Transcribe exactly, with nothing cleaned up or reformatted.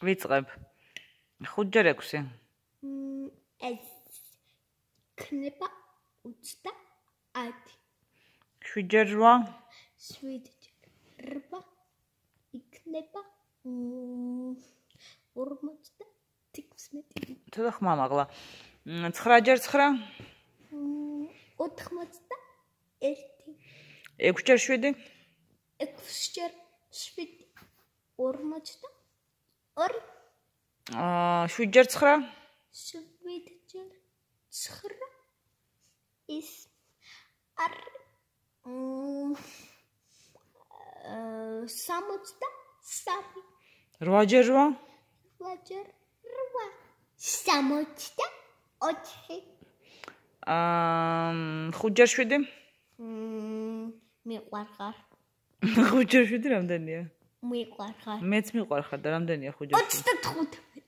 ვიწყებ. ხუთჯერ ექვსი. ეს ქნება ოცდაათი. შვიდჯერ რვა. შვიდჯერ რვა იქნება ორმოცდათექვსმეტი. ცოტა ხმამაღლა. ცხრაჯერ ცხრა. ოთხმოცდაერთი. ექვსჯერ შვიდი. ექვსჯერ შვიდი. ორმოცდაორი. აა შვიდჯერ ცხრა. შვიდჯერ ცხრა. ის არის სამოცდასამი. რვაჯერ რვა. რვაჯერ რვა. სამოცდაოთხი. აა ხუთჯერ შვიდი. მიყვარხარ. ხუთჯერ შვიდი რამდენია? მიყვარხარ. მეც მიყვარხარ და რამდენია ხუთჯერ შვიდი? ოცდათხუთმეტი.